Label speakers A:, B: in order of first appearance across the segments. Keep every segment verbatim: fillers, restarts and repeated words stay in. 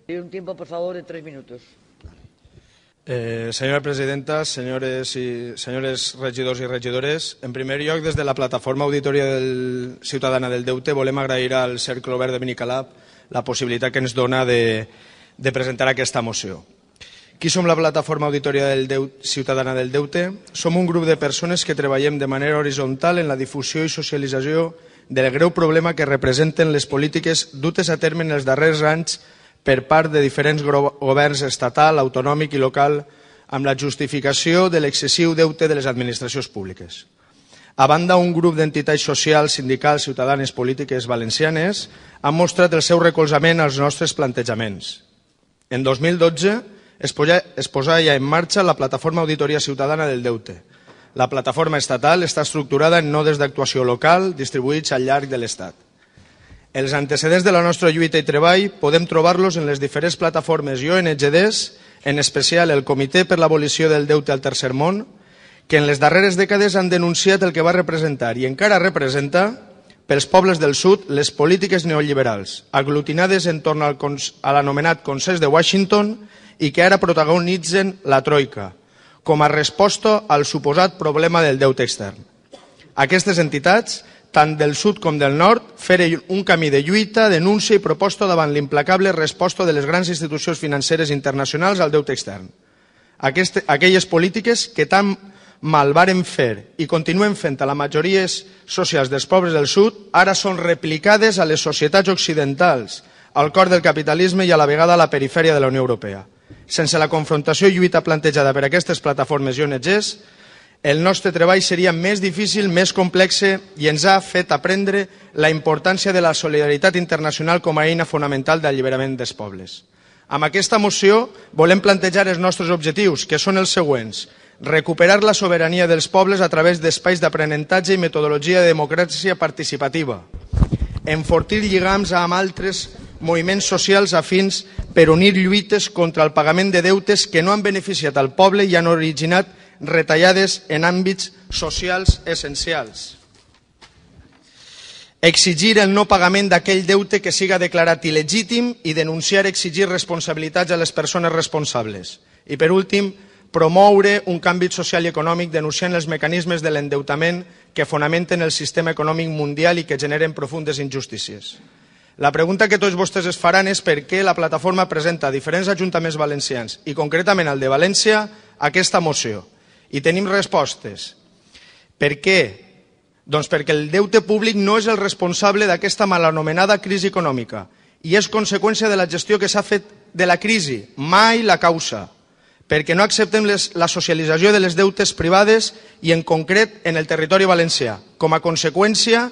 A: Tiene un tiempo, por favor, de tres minutos.
B: Eh, senyora presidenta, senyores, i, senyores regidors i regidores, en primer lloc, des de la plataforma Auditoria del Ciutadana del Deute, volem agrair al Cercle Obert de Benicalap la possibilitat que ens dona de, de presentar aquesta moció. Qui som la plataforma Auditoria del Deute, Ciutadana del Deute? Som un grup de persones que treballem de manera horitzontal en la difusió i socialització del greu problema que representen les polítiques dutes a terme en els darrers anys per part de diferents governs estatal, autonòmic i local amb la justificació de l'excessiu deute de les administracions públiques. A banda, un grup d'entitats socials, sindicals, ciutadanes, polítiques valencianes han mostrat el seu recolzament als nostres plantejaments. En dos mil dotze es posà ja en marxa la Plataforma Auditoria Ciutadana del Deute. La plataforma estatal està estructurada en nodes d'actuació local distribuïts al llarg de l'Estat. Els antecedents de la nostra lluita i treball podem trobar-los en les diferents plataformes i O N G Ds, en especial el Comitè per l'Abolició del Deute al Tercer Món, que en les darreres dècades han denunciat el que va representar i encara representa pels pobles del sud les polítiques neoliberals, aglutinades entorn al a l'anomenat Consens de Washington i que ara protagonitzen la Troika, com a resposta al suposat problema del deute extern. Aquestes entitats, tant del sud com del nord, feren un camí de lluita, denúncia i proposta davant l'implacable resposta de les grans institucions financeres internacionals al deute extern. Aquest, aquelles polítiques que tan mal varen fer i continuen fent a les majories socials dels pobles del sud, ara són replicades a les societats occidentals, al cor del capitalisme i a la vegada a la perifèria de la Unió Europea. Sense la confrontació i lluita plantejada per aquestes plataformes i O N Gs, el nostre treball seria més difícil, més complex i ens ha fet aprendre la importància de la solidaritat internacional com a eina fonamental d'alliberament dels pobles. Amb aquesta moció volem plantejar els nostres objectius, que són els següents: recuperar la sobirania dels pobles a través d'espais d'aprenentatge i metodologia de democràcia participativa, enfortir lligams amb altres moviments socials afins per unir lluites contra el pagament de deutes que no han beneficiat al poble i han originat retallades en àmbits socials essencials. Exigir el no pagament d'aquell deute que siga declarat il·legítim i denunciar i exigir responsabilitats a les persones responsables. I per últim, promoure un canvi social i econòmic denunciant els mecanismes de l'endeutament que fonamenten el sistema econòmic mundial i que generen profundes injustícies. La pregunta que tots vostès es faran és per què la plataforma presenta a diferents ajuntaments valencians i concretament al de València aquesta moció. I tenim respostes. Per què? Doncs perquè el deute públic no és el responsable d'aquesta mal anomenada crisi econòmica i és conseqüència de la gestió que s'ha fet de la crisi, mai la causa. Perquè no acceptem les, la socialització de les deutes privades i en concret en el territori valencià, com a conseqüència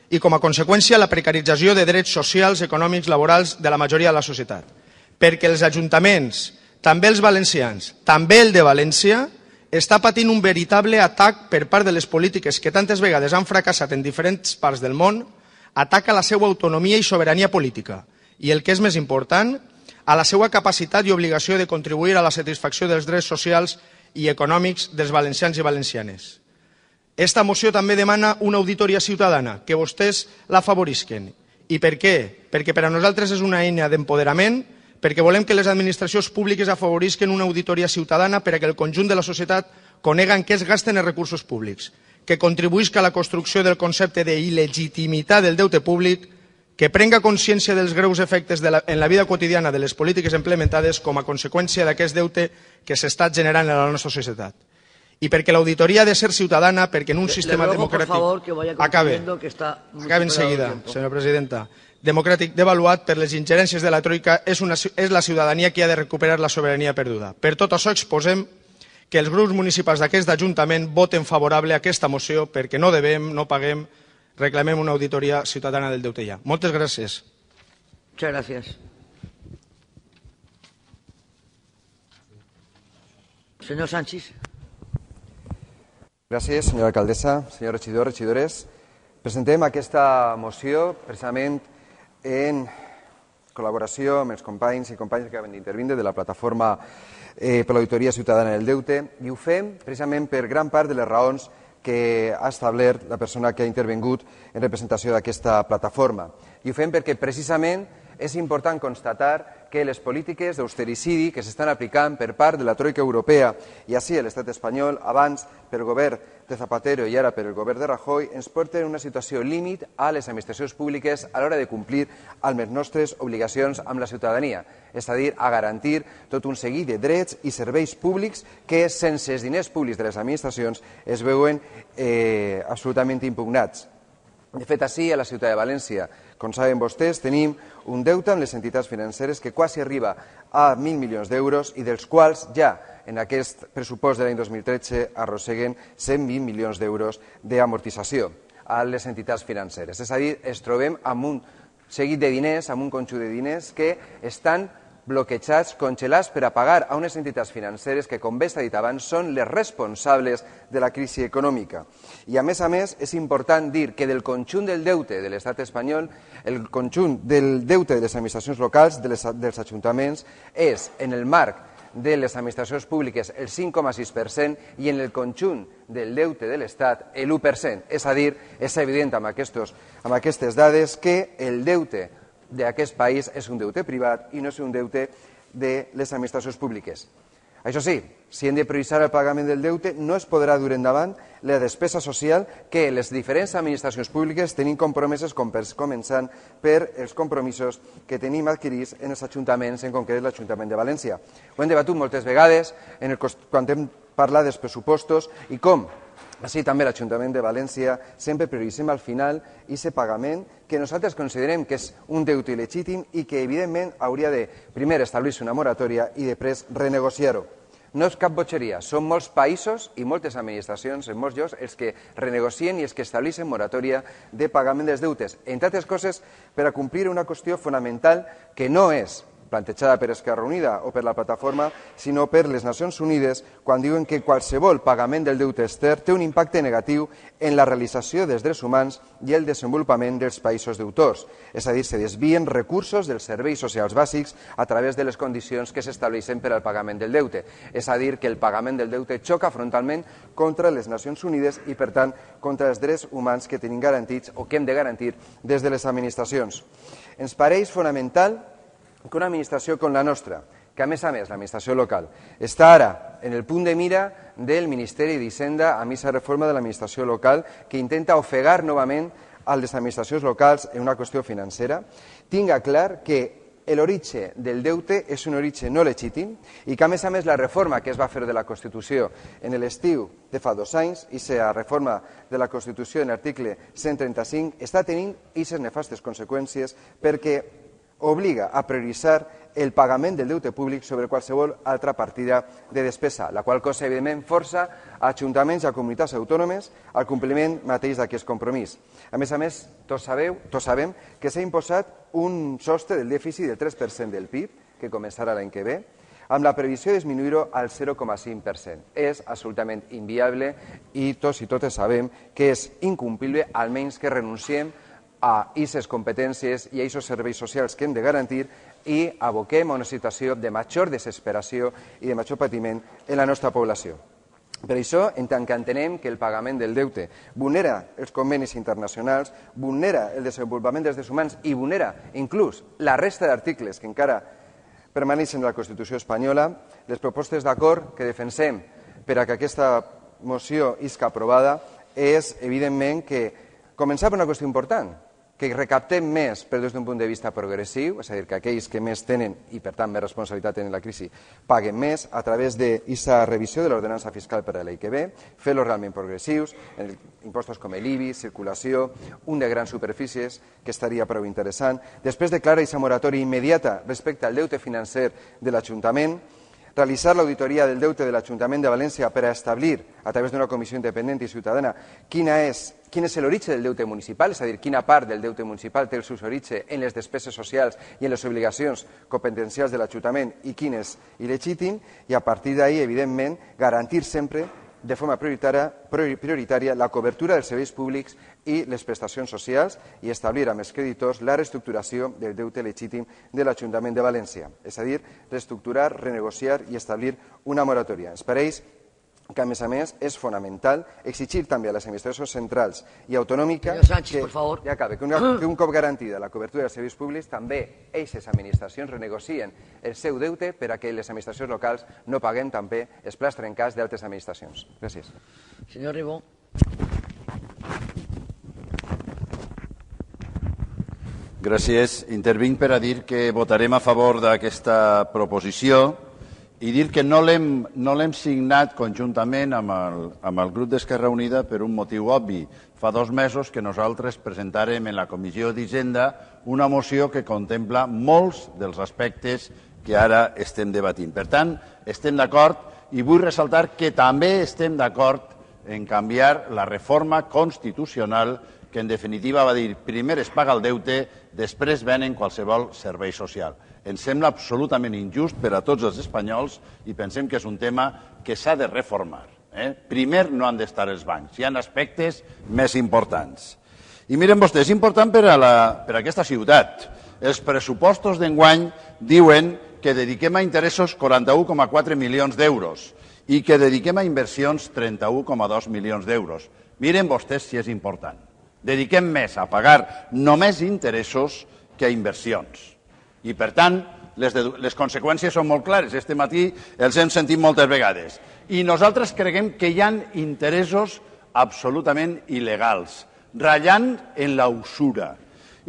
B: i com a conseqüència la precarització de drets socials, econòmics, laborals de la majoria de la societat. Perquè els ajuntaments, també els valencians, també el de València, està patint un veritable atac per part de les polítiques que tantes vegades han fracassat en diferents parts del món, ataca la seva autonomia i sobirania política i, el que és més important, a la seva capacitat i obligació de contribuir a la satisfacció dels drets socials i econòmics dels valencians i valencianes. Esta moció també demana una auditoria ciutadana, que vostès la favorisquen. I per què? Perquè per a nosaltres és una eina d'empoderament, perquè volem que les administracions públiques afavorisquen una auditoria ciutadana per a que el conjunt de la societat conega en què es gasten els recursos públics, que contribuïsca a la construcció del concepte d'il·legitimitat del deute públic, que prenga consciència dels greus efectes de la, en la vida quotidiana de les polítiques implementades com a conseqüència d'aquest deute que s'està generant en la nostra societat. I perquè l'auditoria ha de ser ciutadana, perquè en un sistema democràtic... Acabe, acabe enseguida, senyora presidenta. Democràtic devaluat per les ingerències de la Troika, és, una, és la ciutadania qui ha de recuperar la sobirania perduda. Per tot això exposem que els grups municipals d'aquest ajuntament voten favorable a aquesta moció perquè no devem, no paguem, reclamem una auditoria ciutadana del deute ja. Moltes gràcies.
A: Muchas gracias. Senyor Sánchez.
C: Gràcies, senyora alcaldessa, senyors regidors, regidores. Presentem aquesta moció precisament en col·laboració amb els companys i companyes que acaben d'intervindre de la plataforma eh, per l'Auditoria Ciutadana del Deute i ho fem precisament per gran part de les raons que ha establert la persona que ha intervingut en representació d'aquesta plataforma. I ho fem perquè precisament és important constatar que les polítiques d'austericidi que s'estan aplicant per part de la troika europea i així l'estat espanyol, abans pel govern de Zapatero i ara per el govern de Rajoy, ens porten una situació límit a les administracions públiques a l'hora de complir amb les nostres obligacions amb la ciutadania, és a dir, a garantir tot un seguit de drets i serveis públics que sense els diners públics de les administracions es veuen eh, absolutament impugnats. De fet, així, a la ciutat de València, com saben vostès, tenim un deute amb les entitats financeres que quasi arriba a mil milions d'euros i dels quals ja en aquest pressupost de l'any dos mil tretze arrosseguen cent vint milions d'euros d'amortització a les entitats financeres. És a dir, ens trobem amb un seguit de diners, amb un conjunt de diners que estan bloquejats, congelats per a pagar a unes entitats financeres que, com bé s'ha dit abans, són les responsables de la crisi econòmica. I, a més a més, és important dir que del conjunt del deute de l'estat espanyol, el conjunt del deute de les administracions locals, de les, dels ajuntaments, és, en el marc de les administracions públiques, el cinc coma sis per cent i en el conjunt del deute de l'Estat, l'u per cent. És a dir, és evident amb, aquestos, amb aquestes dades que el deute d'aquest país és un deute privat i no és un deute de les administracions públiques. Això sí, si hem de prioritzar el pagament del deute, no es podrà dur endavant la despesa social que les diferents administracions públiques tenim compromeses, com per començant per els compromisos que tenim adquirits en els ajuntaments, en concret l'Ajuntament de València. Ho hem debatut moltes vegades en el, quan hem parlat dels pressupostos i com així també l'Ajuntament de València sempre prioritzem al final aquest pagament que nosaltres considerem que és un deute il·legítim i que evidentment hauria de primer establir-se una moratòria i després renegociar-ho. No és cap botxeria, són molts països i moltes administracions en molts llocs els que renegocien i els que estableixen moratòria de pagament dels deutes, entre altres coses per a complir una qüestió fonamental que no és plantejada per Esquerra Unida o per la plataforma, sinó per les Nacions Unides, quan diuen que qualsevol pagament del deute extern té un impacte negatiu en la realització dels drets humans i el desenvolupament dels països deutors. És a dir, se desvien recursos dels serveis socials bàsics a través de les condicions que s'estableixen per al pagament del deute. És a dir, que el pagament del deute xoca frontalment contra les Nacions Unides i, per tant, contra els drets humans que tenim garantits o que hem de garantir des de les administracions. Ens pareix fonamental que una administració com la nostra, que a més a més l'administració local, està ara en el punt de mira del Ministeri d'Hisenda amb aquesta reforma de l'administració local que intenta ofegar novament a les administracions locals en una qüestió financera, tinga clar que l'origen del deute és un origen no legítim i que a més a més la reforma que es va fer de la Constitució en l'estiu de fa dos anys, i la reforma de la Constitució en l'article cent trenta-cinc, està tenint aquestes nefastes conseqüències perquè obliga a prioritzar el pagament del deute públic sobre qualsevol altra partida de despesa, la qual cosa, evidentment, força a ajuntaments i a comunitats autònomes al compliment mateix d'aquest compromís. A més a més, tots sabeu, tots sabem que s'ha imposat un sostre del dèficit del tres per cent del P I B, que començarà l'any que ve, amb la previsió de disminuir-ho al zero coma cinc per cent. És absolutament inviable i tots i totes sabem que és incomplible, almenys que renunciem a aquestes competències i a aquests serveis socials que hem de garantir i aboquem a una situació de major desesperació i de major patiment en la nostra població. Per això, en tant que entenem que el pagament del deute vulnera els convenis internacionals, vulnera el desenvolupament dels drets humans i vulnera inclús la resta d'articles que encara permaneixen en la Constitució espanyola, les propostes d'acord que defensem per a que aquesta moció isca aprovada és, evidentment, que començar per una qüestió important, que recaptem més però des d'un punt de vista progressiu, és a dir, que aquells que més tenen i per tant més responsabilitat tenen la crisi paguen més a través d'aquesta revisió de l'ordenança fiscal per a l'any que ve, fer-los realment progressius, en impostos com l'I B I, circulació, un de grans superfícies, que estaria prou interessant. Després declarar aquesta moratòria immediata respecte al deute financer de l'Ajuntament, realitzar l'auditoria del deute de l'Ajuntament de València per a establir, a través d'una comissió independent i ciutadana, quina és, quin és l'origen del deute municipal, és a dir, quina part del deute municipal té el seu origen en les despeses socials i en les obligacions competencials de l'Ajuntament i quin és il·legítim, i a partir d'ahí, evidentment, garantir sempre de forma prioritària, prioritària la cobertura dels serveis públics i les prestacions socials i establir amb els creditors la reestructuració del deute legítim de l'Ajuntament de València, és a dir, reestructurar, renegociar i establir una moratòria. Ens pareix que, a més a més, és fonamental exigir també a les administracions centrals i autonòmiques
A: Sánchez, por favor.
C: ja acabe, que, una, que un cop garantida la cobertura dels serveis públics, també aquestes administracions renegocien el seu deute per a que les administracions locals no paguen també els plats trencats d'altres administracions. Gràcies.
A: Senyor Ribó.
D: Gràcies. Intervinc per a dir que votarem a favor d'aquesta proposició i dir que no l'hem no l'hem signat conjuntament amb el, amb el grup d'Esquerra Unida per un motiu obvi. Fa dos mesos que nosaltres presentàrem en la Comissió d'Hisenda una moció que contempla molts dels aspectes que ara estem debatint. Per tant, estem d'acord i vull ressaltar que també estem d'acord en canviar la reforma constitucional que en definitiva va dir primer es paga el deute, després venen qualsevol servei social. Ens sembla absolutament injust per a tots els espanyols i pensem que és un tema que s'ha de reformar. Eh? Primer no han d'estar els bancs, hi ha aspectes més importants. I miren vostès, és important per a, la, per a aquesta ciutat. Els pressupostos d'enguany diuen que dediquem a interessos quaranta-un coma quatre milions d'euros i que dediquem a inversions trenta-un coma dos milions d'euros. Miren vostès si és important. Dediquem més a pagar només interessos que a inversions. I, per tant, les, de, les conseqüències són molt clares. Este matí els hem sentit moltes vegades. I nosaltres creiem que hi ha interessos absolutament il·legals, ratllant en la usura.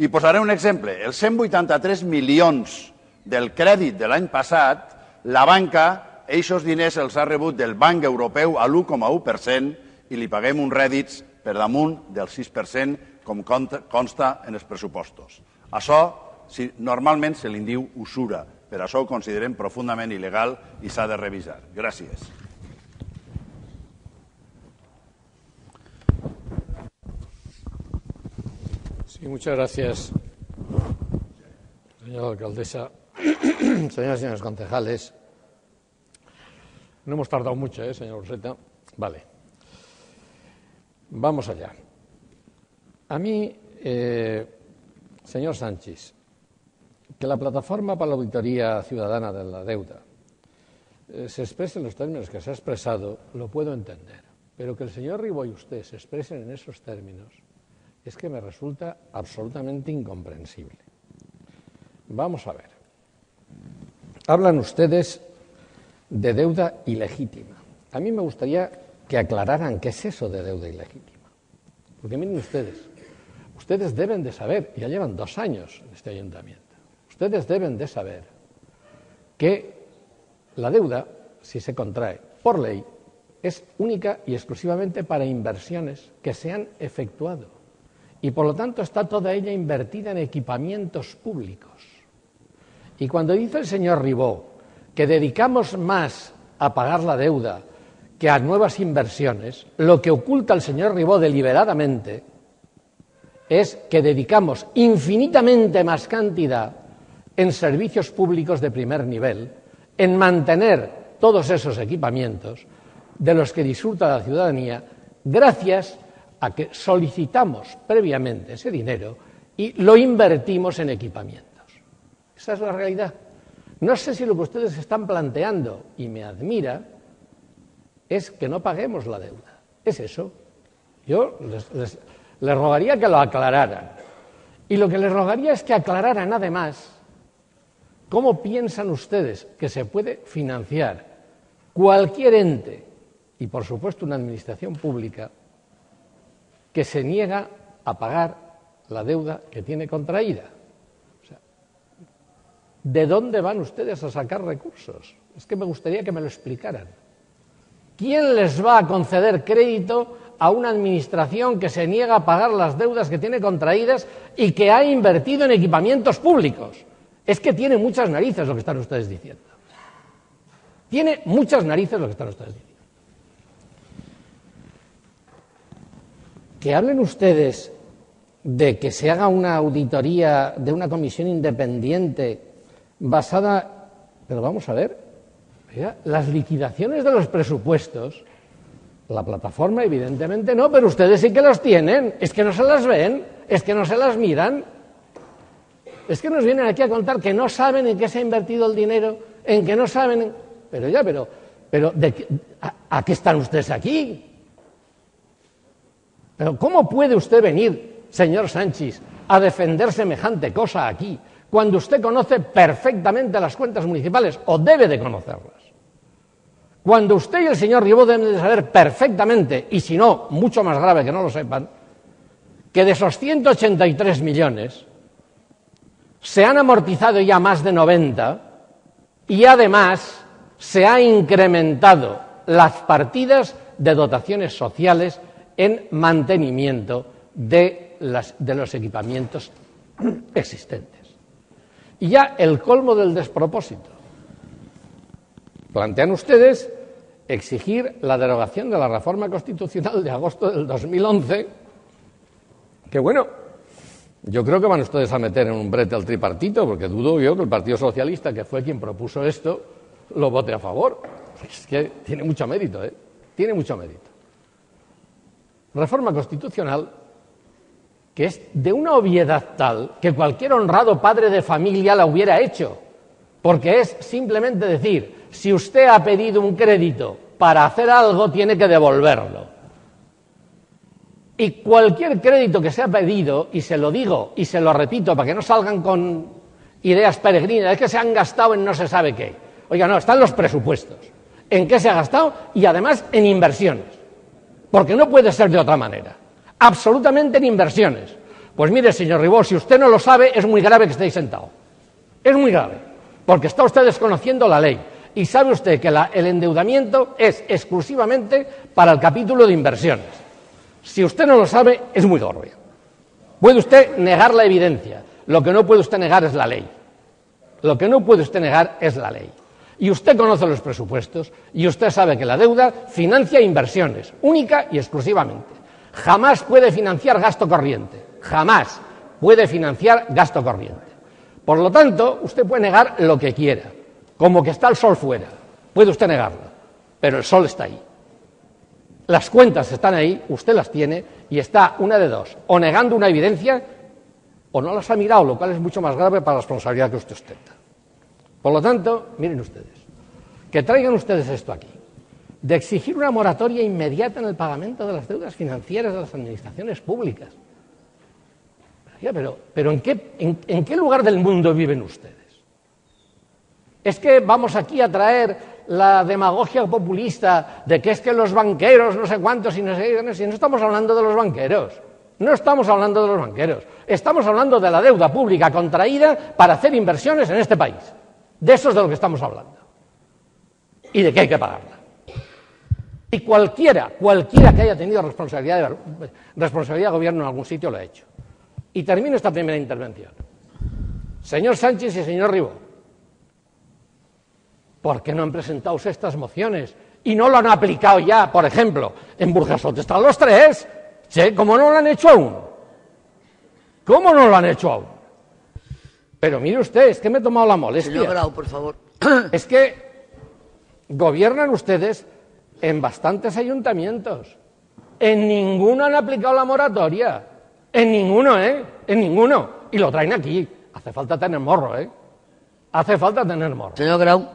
D: I posaré un exemple. Els cent vuitanta-tres milions del crèdit de l'any passat, la banca, aquests diners els ha rebut del Banc Europeu a l'u coma u per cent i li paguem uns rèdits per damunt del sis per cent, com consta en els pressupostos. Això si, normalment se li diu usura, per això ho considerem profundament il·legal i s'ha de revisar. Gràcies.
E: Sí, muchas gracias, señora alcaldesa. Señoras y señores concejales, no hemos tardado mucho, ¿eh, señor Urseta? Vale. Vamos allá. A mí, eh, señor Sánchez, que la Plataforma para la Auditoría Ciudadana de la Deuda eh, se exprese en los términos que se ha expresado, lo puedo entender. Pero que el señor Ribó y usted se expresen en esos términos es que me resulta absolutamente incomprensible. Vamos a ver. Hablan ustedes de deuda ilegítima. A mí me gustaría que aclararan qué es eso de deuda ilegítima. Porque miren ustedes, ustedes deben de saber, ya llevan dos años en este ayuntamiento, ustedes deben de saber que la deuda, si se contrae por ley, es única y exclusivamente para inversiones que se han efectuado. Y por lo tanto está toda ella invertida en equipamientos públicos. Y cuando dice el señor Ribó que dedicamos más a pagar la deuda que a nuevas inversiones, lo que oculta el señor Ribó deliberadamente es que dedicamos infinitamente más cantidad en servicios públicos de primer nivel, en mantener todos esos equipamientos de los que disfruta la ciudadanía, gracias a que solicitamos previamente ese dinero y lo invertimos en equipamientos. Esa es la realidad. No sé si lo que ustedes están planteando, y me admira, es que no paguemos la deuda. Es eso. Yo les, les, les rogaría que lo aclararan. Y lo que les rogaría es que aclararan, además, cómo piensan ustedes que se puede financiar cualquier ente, y por supuesto una administración pública, que se niega a pagar la deuda que tiene contraída. O sea, ¿de dónde van ustedes a sacar recursos? Es que me gustaría que me lo explicaran. ¿Quién les va a conceder crédito a una administración que se niega a pagar las deudas que tiene contraídas y que ha invertido en equipamientos públicos? Es que tiene muchas narices lo que están ustedes diciendo. Tiene muchas narices lo que están ustedes diciendo. Que hablen ustedes de que se haga una auditoría de una comisión independiente basada... Pero vamos a ver, oiga, las liquidaciones de los presupuestos, la plataforma evidentemente no, pero ustedes sí que los tienen, es que no se las ven, es que no se las miran, es que nos vienen aquí a contar que no saben en qué se ha invertido el dinero, en que no saben... Pero ya, pero pero ¿de qué, a, ¿a qué están ustedes aquí? Pero ¿cómo puede usted venir, señor Sánchez, a defender semejante cosa aquí, cuando usted conoce perfectamente las cuentas municipales, o debe de conocerlas? Cuando usted y el señor Ribó deben de saber perfectamente, y si no, mucho más grave que no lo sepan, que de esos ciento ochenta y tres millones se han amortizado ya más de noventa y además se ha incrementado las partidas de dotaciones sociales en mantenimiento de, las, de los equipamientos existentes. Y ya el colmo del despropósito. Plantean ustedes exigir la derogación de la reforma constitucional de agosto del dos mil once, que bueno, yo creo que van ustedes a meter en un brete al tripartito, porque dudo yo que el Partido Socialista, que fue quien propuso esto, lo vote a favor. Es que tiene mucho mérito, ¿eh? Tiene mucho mérito. Reforma constitucional que es de una obviedad tal que cualquier honrado padre de familia la hubiera hecho, porque es simplemente decir, si usted ha pedido un crédito para hacer algo, tiene que devolverlo. Y cualquier crédito que se ha pedido, y se lo digo y se lo repito para que no salgan con ideas peregrinas, es que se han gastado en no se sabe qué. Oiga, no, están los presupuestos. ¿En qué se ha gastado? Y además en inversiones. Porque no puede ser de otra manera. Absolutamente en inversiones. Pues mire, señor Ribó, si usted no lo sabe, es muy grave que estéis sentado. Es muy grave. Porque está usted desconociendo la ley. Y sabe usted que la, el endeudamiento es exclusivamente para el capítulo de inversiones. Si usted no lo sabe, es muy grave. Puede usted negar la evidencia. Lo que no puede usted negar es la ley. Lo que no puede usted negar es la ley. Y usted conoce los presupuestos y usted sabe que la deuda financia inversiones, única y exclusivamente. Jamás puede financiar gasto corriente. Jamás puede financiar gasto corriente. Por lo tanto, usted puede negar lo que quiera, como que está el sol fuera. Puede usted negarlo, pero el sol está ahí. Las cuentas están ahí, usted las tiene y está una de dos, o negando una evidencia o no las ha mirado, lo cual es mucho más grave para la responsabilidad que usted ostenta. Por lo tanto, miren ustedes, que traigan ustedes esto aquí, de exigir una moratoria inmediata en el pagamento de las deudas financieras de las administraciones públicas. Pero, pero, pero ¿en qué, en, ¿en qué lugar del mundo viven ustedes? ¿Es que vamos aquí a traer la demagogia populista de que es que los banqueros no sé cuántos y no sé qué? Si no estamos hablando de los banqueros, no estamos hablando de los banqueros, estamos hablando de la deuda pública contraída para hacer inversiones en este país. De eso es de lo que estamos hablando. Y de que hay que pagarla. Y cualquiera, cualquiera que haya tenido responsabilidad de, responsabilidad de gobierno en algún sitio lo ha hecho. Y termino esta primera intervención. Señor Sánchez y señor Ribó, ¿por qué no han presentado estas mociones y no lo han aplicado ya, por ejemplo, en Burjasot? Están los tres. ¿Sí? ¿Cómo no lo han hecho aún? ¿Cómo no lo han hecho aún? Pero mire usted, es que me he tomado la molestia.
A: Señor Grau, por favor.
E: Es que gobiernan ustedes en bastantes ayuntamientos. En ninguno han aplicado la moratoria. En ninguno, ¿eh? En ninguno. Y lo traen aquí. Hace falta tener morro, ¿eh? Hace falta tener morro.
A: Señor Grau,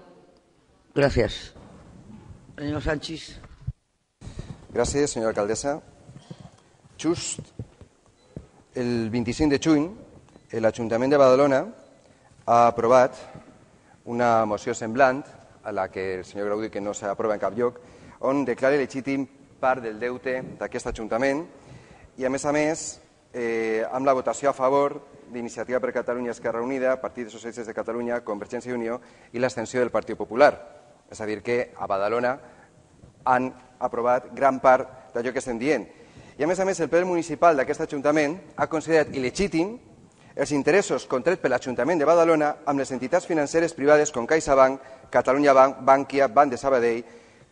A: gracias. Señor Sánchez.
C: Gràcies, senyora alcaldessa. Just el vint-i-cinc de juny, l'Ajuntament de Badalona ha aprovat una moció semblant a la que el senyor Grau diu que no s'aprova en cap lloc, on declara legítim part del deute d'aquest Ajuntament i, a més a més, eh, amb la votació a favor d'Iniciativa per Catalunya Esquerra Unida, Partit dels Socialistes de Catalunya, Convergència i Unió i l'abstenció del Partit Popular. És a dir, que a Badalona han aprovat gran part d'allò que estem dient. I, a més a més, el ple municipal d'aquest Ajuntament ha considerat il·legítim els interessos contrets per l'Ajuntament de Badalona amb les entitats financeres privades com CaixaBank, Catalunya Bank, Bankia, Banc de Sabadell,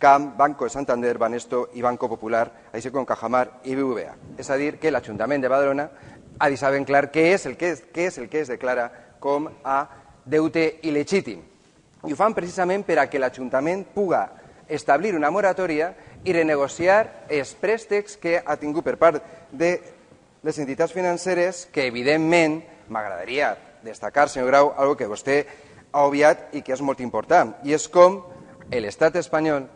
C: C A M, Banco de Santander, Banesto i Banco Popular, així com Cajamar i B B V A. És a dir, que l'Ajuntament de Badalona ha deixat ben clar què és el que es, què és el que es declara com a deute il·legítim. I ho fan precisament per a que l'Ajuntament puga establir una moratòria i renegociar els préstecs que ha tingut per part de les entitats financeres, que evidentment m'agradaria destacar, senyor Grau, algo que vostè ha obviat i que és molt important, i és com l'estat espanyol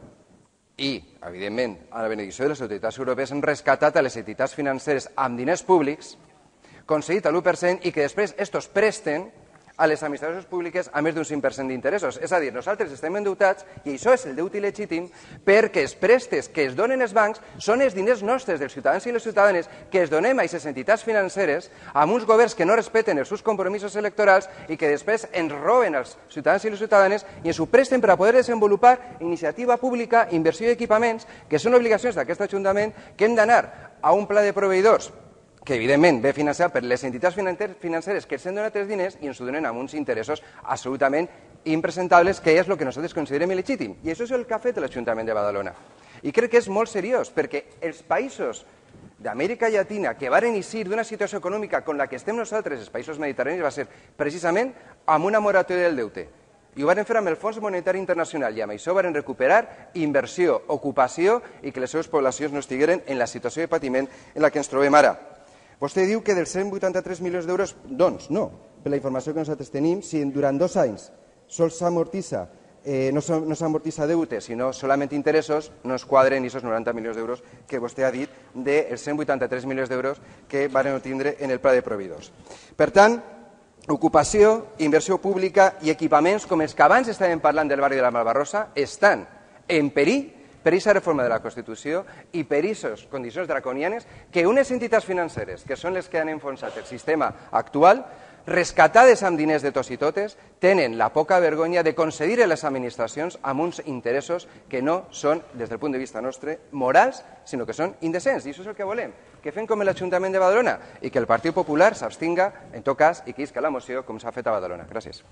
C: i, evidentment, a la benedicció de les autoritats europees han rescatat a les entitats financeres amb diners públics, concedit a l'u per cent i que després estos presten a les administracions públiques a més d'un cinc per cent d'interessos. És a dir, nosaltres estem endeutats i això és el deute il·legítim perquè els prestes que es donen als bancs són els diners nostres, dels ciutadans i les ciutadanes, que es donem a aquestes entitats financeres amb uns governs que no respecten els seus compromisos electorals i que després ens roben als ciutadans i les ciutadanes i ens ho presten per a poder desenvolupar iniciativa pública, inversió i equipaments, que són obligacions d'aquest Ajuntament, que hem d'anar a un pla de proveïdors que evidentment ve financiat per les entitats financeres que ens han donat els diners i ens ho donen amb uns interessos absolutament impresentables, que és el que nosaltres considerem il·legítim. I això és el que ha fet l'Ajuntament de Badalona. I crec que és molt seriós, perquè els països d'Amèrica Llatina que varen eixir d'una situació econòmica com la que estem nosaltres, els països mediterranis, va ser precisament amb una moratòria del deute. I ho varen fer amb el Fons Monetari Internacional i amb això varen recuperar inversió, ocupació i que les seves poblacions no estigueren en la situació de patiment en la que ens trobem ara. Vostè diu que dels cent vuitanta-tres milions d'euros, doncs no, per la informació que nosaltres tenim, si durant dos anys sols s'amortitza, eh, no s'amortitza deute, sinó solament interessos, no es quadren aquests noranta milions d'euros que vostè ha dit dels cent vuitanta-tres milions d'euros que van obtindre en el pla de proveïdors. Per tant, ocupació, inversió pública i equipaments com els que abans estàvem parlant del barri de la Malvarrosa estan en perill per aquesta reforma de la Constitució i per aquestes condicions draconianes que unes entitats financeres, que són les que han enfonsat el sistema actual, rescatades amb diners de tots i totes, tenen la poca vergonya de concedir a les administracions amb uns interessos que no són, des del punt de vista nostre, morals, sinó que són indecents. I això és el que volem, que fem com l'Ajuntament de Badalona i que el Partit Popular s'abstinga, en tot cas, i que isca la moció com s'ha fet a Badalona. Gràcies.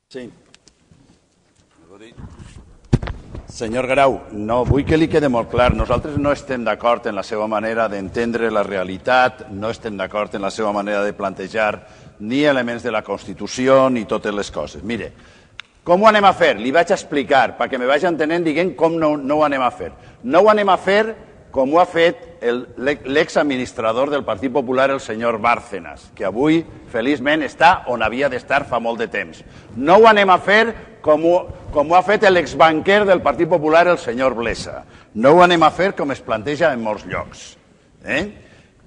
D: Sí. Senyor Grau, no, vull que li quede molt clar. Nosaltres no estem d'acord en la seva manera d'entendre la realitat, no estem d'acord en la seva manera de plantejar ni elements de la Constitució ni totes les coses. Mire, com ho anem a fer? Li vaig explicar, perquè me vaig entenent dient com no, no ho anem a fer. No ho anem a fer com ho ha fet l'exadministrador del Partit Popular, el senyor Bárcenas, que avui, feliçment, està on havia d'estar fa molt de temps. No ho anem a fer com ho, com ho ha fet l'exbanquer del Partit Popular, el senyor Blesa. No ho anem a fer com es planteja en molts llocs. Eh?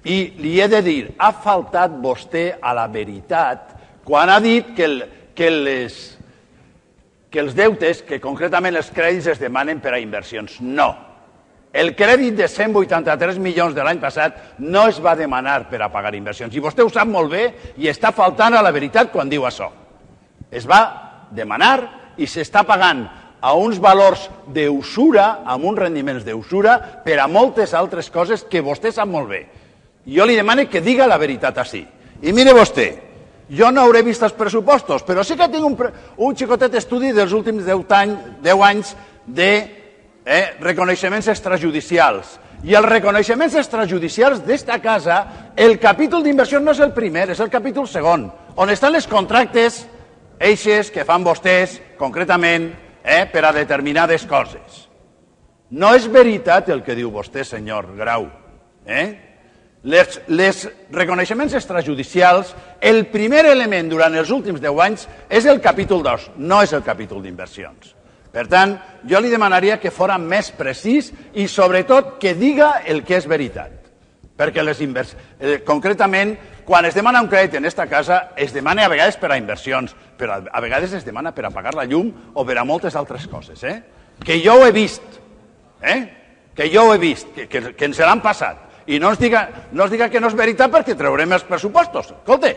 D: I li he de dir, ha faltat vostè a la veritat quan ha dit que, el, que, les, que els deutes, que concretament els crèdits es demanen per a inversions. No. El crèdit de cent vuitanta-tres milions de l'any passat no es va demanar per a pagar inversions. I vostè ho sap molt bé i està faltant a la veritat quan diu això. Es va demanar i s'està pagant a uns valors d'usura, amb uns rendiments d'usura, per a moltes altres coses que vostè sap molt bé. Jo li demano que diga la veritat així. I mire vostè, jo no hauré vist els pressupostos, però sí que tinc un, un xicotet estudi dels últims deu anys de eh, reconeixements extrajudicials. I els reconeixements extrajudicials d'esta casa, el capítol d'inversió no és el primer, és el capítol segon, on estan les contractes eixes que fan vostès, concretament, eh, per a determinades coses. No és veritat el que diu vostè, senyor Grau. Eh? Les, les reconeixements extrajudicials, el primer element durant els últims deu anys és el capítol dos, no és el capítol d'inversions. Per tant, jo li demanaria que fora més precís i, sobretot, que diga el que és veritat. Perquè les inversions, eh, concretament, quan es demana un crèdit en aquesta casa, es demana a vegades per a inversions, però a vegades es demana per a pagar la llum o per a moltes altres coses. Eh? Que jo ho he vist, eh? que jo ho he vist, que, que, que ens l'han passat. I no ens, diga, no ens diga que no és veritat perquè traurem els pressupostos. Escolta,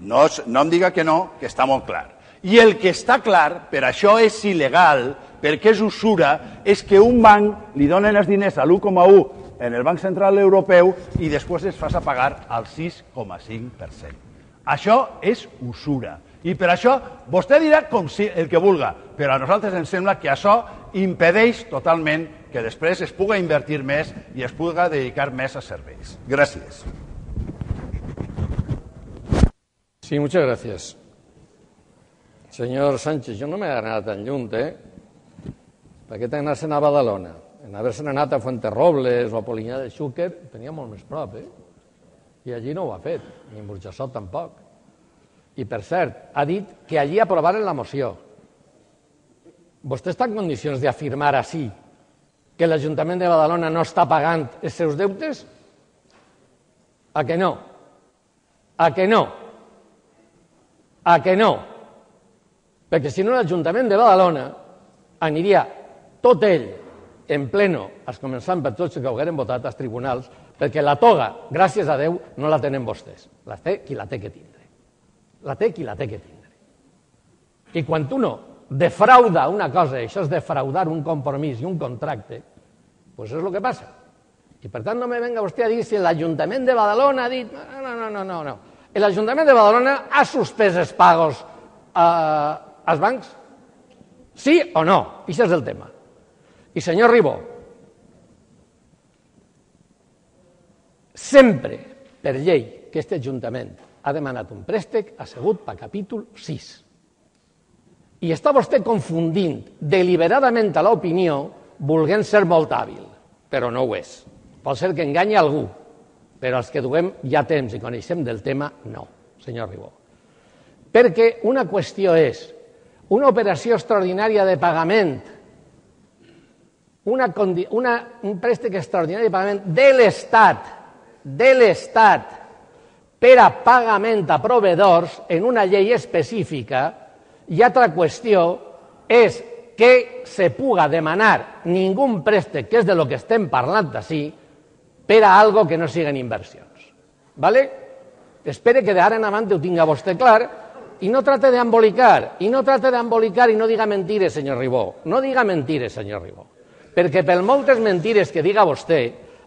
D: no, no em diga que no, que està molt clar. I el que està clar, per això és il·legal, perquè és usura, és que un banc li donen els diners a l'u coma u en el Banc Central Europeu i després es fas a pagar al sis coma cinc per cent. Això és usura. I per això vostè dirà com si el que vulga, però a nosaltres ens sembla que això impedeix totalment que després es pugui invertir més i es pugui dedicar més a serveis. Gràcies.
E: Sí, muchas gracias. Señor Sánchez, jo no m'he anat tan lluny, eh? Per què t'he anat a Badalona? En haver-se'n anat a Fuenterrobles o a Polinyà de Xúquer, tenia molt més prop, eh? I allí no ho ha fet, ni en Burjassot tampoc. I, per cert, ha dit que allí aprovaren la moció. Vostè està en condicions d'afirmar així que l'Ajuntament de Badalona no està pagant els seus deutes? A que no? A que no? A que no? Perquè si no l'Ajuntament de Badalona aniria tot ell en pleno, es començant per tots que ho hagueren votat als tribunals, perquè la toga, gràcies a Déu, no la tenen vostès. La té qui la té que tindre. La té qui la té que tindre. I quan uno defrauda una cosa, això és defraudar un compromís i un contracte, doncs és el que passa. I per tant no me venga vostè a dir si l'Ajuntament de Badalona ha dit... No, no, no, no, no. L'Ajuntament de Badalona ha suspès els pagos als bancs? Sí o no? Això és el tema. I senyor Ribó, sempre per llei que aquest Ajuntament ha demanat un préstec ha sigut per capítol sis. I està vostè confundint deliberadament a l'opinió volent ser molt hàbil, però no ho és. Pot ser que enganyi algú, però els que duem ja temps i coneixem del tema, no, senyor Ribó. Perquè una qüestió és una operació extraordinària de pagament, una, una, un préstec extraordinari de pagament de l'Estat, de l'Estat, per a pagament a proveïdors en una llei específica, i altra qüestió és que se puga demanar ningú préstec, que és de lo que estem parlant així, per a algo que no siguin inversions. ¿Vale? Espere que d'ara en avant ho tinga vostè clar i no trate d'embolicar, i no trate d'embolicar i no diga mentires, senyor Ribó. No diga mentires, senyor Ribó. Perquè per moltes mentires que diga vostè,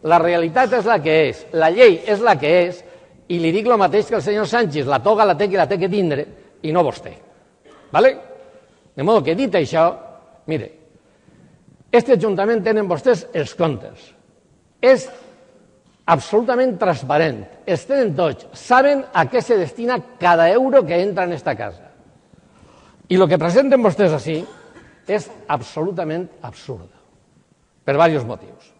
E: la realitat és la que és, la llei és la que és, i li dic el mateix que el senyor Sánchez, la toga la té qui la té que tindre, i no vostè. ¿Vale? De modo que dit això, mire, este Ajuntament tenen vostès els comptes. És absolutament transparent. Els tenen tots. Saben a què se destina cada euro que entra en esta casa. I el que presenten vostès així és absolutament absurd, per diversos motius.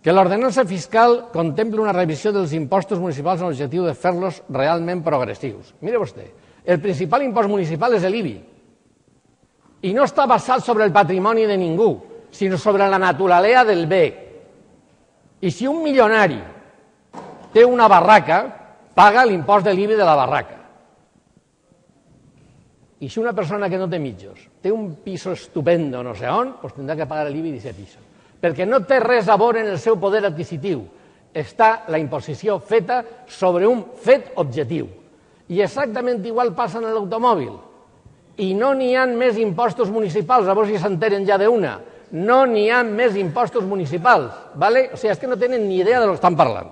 E: Que l'ordenança fiscal contempla una revisió dels impostos municipals amb l'objectiu de fer-los realment progressius. Mire vostè, el principal impost municipal és l'I B I. I no està basat sobre el patrimoni de ningú, sinó sobre la naturalesa del bé. I si un milionari té una barraca, paga l'impost de l'I B I de la barraca. I si una persona que no té mitjos té un piso estupendo no sé on, doncs tindrà que pagar l'I B I d'aquest piso. Perquè no té res a veure en el seu poder adquisitiu. Està la imposició feta sobre un fet objectiu. I exactament igual passa en l'automòbil. I no n'hi ha més impostos municipals, a veure si s'enteren ja d'una. No n'hi ha més impostos municipals. ¿Vale? O sigui, és que no tenen ni idea de lo que estan parlant.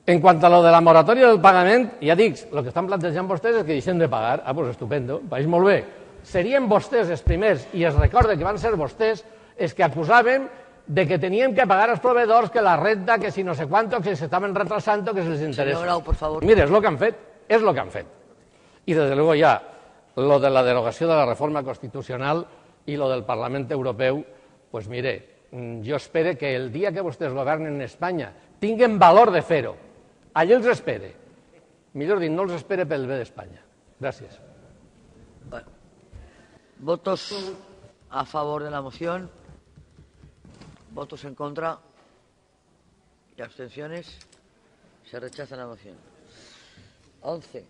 E: En quant a lo de la moratòria del pagament, ja dic, el que estan plantejant vostès és que deixem de pagar. Ah, doncs estupendo, vaig molt bé. Serien vostès els primers, i es recorda que van ser vostès, els que acusaven de que teníem que pagar als proveïdors, que la renta, que si no sé quanto, que s'estaven retrasant, que se les interessa.
A: Senyor Grau, por favor.
E: Mira, és el que han fet, és el que han fet. I, des de luego, ja, lo de la derogació de la reforma constitucional i lo del Parlament Europeu, pues mire, jo espero que el dia que vostès governen en Espanya tinguen valor de fer-ho. Allí els espere. Millor dit, no els espere pel bé d'Espanya. Gràcies.
A: Bueno. Votos a favor de la moción. Votos en contra y abstenciones. Se rechaza la moción. once.